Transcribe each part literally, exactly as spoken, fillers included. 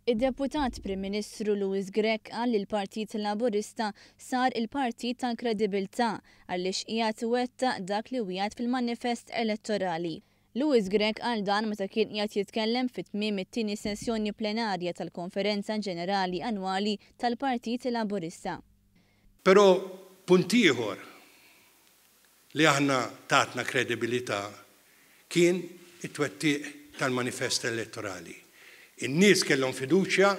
Id-Deputat Prim Ministru Louis Grech qal li l-Partit Laburista sar il-partit tal-kredibilità għaliex qiegħed iwettaq dak li wiegħed fil-manifest elettorali. Louis Grech qal dan meta kien qiegħed jitkellem fi tmiem it-tieni sessjoni plenarja tal-Konferenza Ġenerali Annwali tal-Partit Laburista. Però punt ieħor li aħna tatna kredibilità kien it-twettiq tal-manifest elettorali. In-nies kellhom fiduċja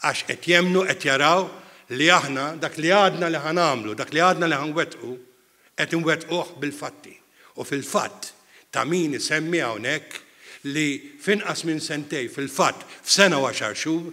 għax qed jemmnu, qed jaraw li aħna dak li għadna li ħa nagħmlu, dak li għadna li ħa nwettqu, qed inwettquh bil-fatti. U fil-fatt ta' min isemmi hawnhekk li f'inqas minn sentejn, fil-fatt f'sena u għaxar xhur,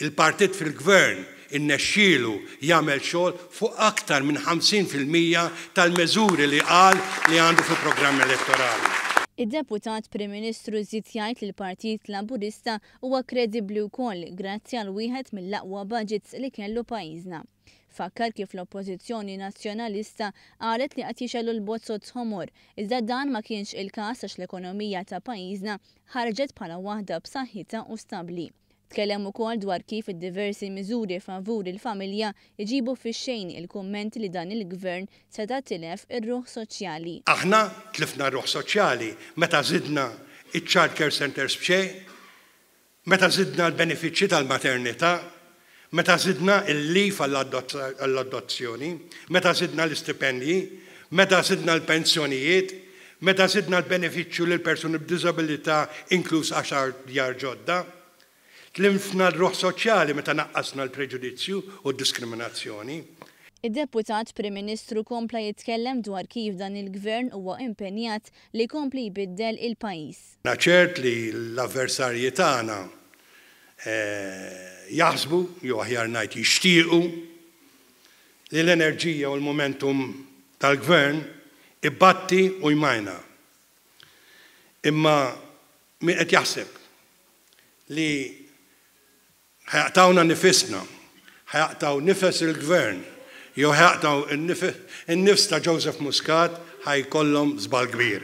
il-partit fil-gvern innexxielu jagħmel xogħol fuq aktar minn ħamsin fil-mija tal-meżuri li qal li għandu fil-programm elettorali. Id-Deputat Prim Ministru żied jgħid li l-Partit Laburista huwa kredibbli wkoll grazzi għal wieħed mill-aqwa budgets li kellu pajjiżna. Fakkar kif l-Oppożizzjoni Nazzjonalista qalet li qed jixegħlu l-bozoz ħomor, iżda dan ma kienx il-każ għax l-ekonomija ta' pajjiżna ħarġet bħala waħda b'saħħitha u stabbli. Tkellem ukoll dwar kif id-diversi miżuri favur il-familja jġibu fix-xejn il-kummenti li dan il-gvern seta' tilef ir-ruħ soċjali. Aħna tlifna r-ruħ soċjali meta żidna iċ-child care centers b'xejn, meta żidna l-benefiċċji tal-maternità, meta żidna il-leave għall-adozzjoni, meta żidna l-istipendji, meta żidna l-pensjonijiet, meta żidna l-benefiċċju lil persuni b'diżabilità inkluż għaxar djar ġodda. Tlifna l-ruħ soċjali meta naqqasna l-preġudizzju u d-diskriminazzjoni. Id-Deputat Prim Ministru kompla jitkellem dwar kif dan il-gvern huwa impenjat li jkompli jbiddel il-pajjiż. Na ċert li l-avversarji tagħna, eh, jaħsbu, jew aħjar ngħid jixtiequ, li l-enerġija u l-momentum tal-gvern ibatti u jmajna. Imma min qed jaħseb li ħa jaqtgħulna nifisna, ħa jaqtgħu nifes il-gvern, jew ħa jaqtgħu n-nifs ta' Joseph Muscat, ħa jkollhom żball kbir.